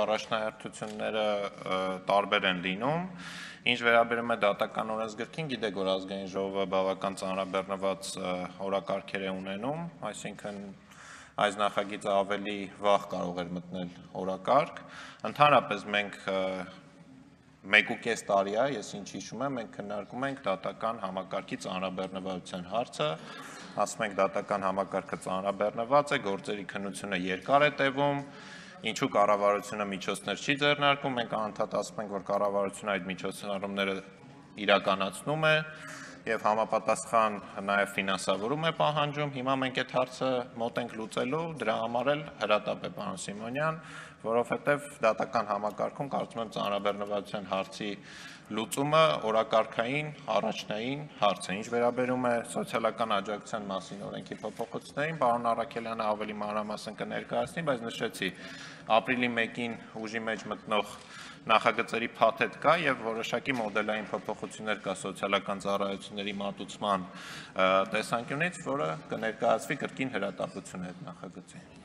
Առաջնահերթությունները տարբեր են լինում, ինչ վերաբերում է դատական օրենսգրքին, գիտեք, որ ազգային ժողովը բավական ծանրաբեռնված օրակարգեր է ունենում, այսինքն այս նախագիծը ավելի վաղ կարող էր մտնել օրակարգ, ընդհանրապես մենք 1.5 տարի է, ես ինչ հիշում եմ, մենք քննարկում ենք դատական համակարգի ծանրաբեռնվածության հարցը, ասում ենք դատական համակարգը ծանրաբեռնված է, գործերի քննությունը երկար է տևում, ինչու կառավարությունը միջոցներ չի ձեռնարկում, մենք անընդհատ ասում ենք, որ կառավարությունը այդ միջոցառումները իրականացնում է եւ համապատասխան նաեւ ֆինանսավորում է պահանջում, հիմա մենք այդ հարցը մոտ ենք լուծելու, դրա համար էլ հրատապ է պարոն Սիմոնյան, որովհետեւ դատական համակարգում կարծում եմ ծանրաբեռնվածության հարցի լուծումը օրակարգային առաջնային հարց է, ինչ վերաբերում է սոցիալական աջակցության մասին օրենքի փոփոխություններին, պարոն Առաքելյանը ավելի մանրամասն կներկայացնի, բայց նշեցի, ապրիլի 1-ին ուժի մեջ մտնող նախագծերի փաթեթ կա եւ որոշակի մոդելային փոփոխություններ կա սոցիալական ծառայությունների մատուցման տեսանկյունից, որը կներկայացվի կրկին հրատապություն այդ նախագծի։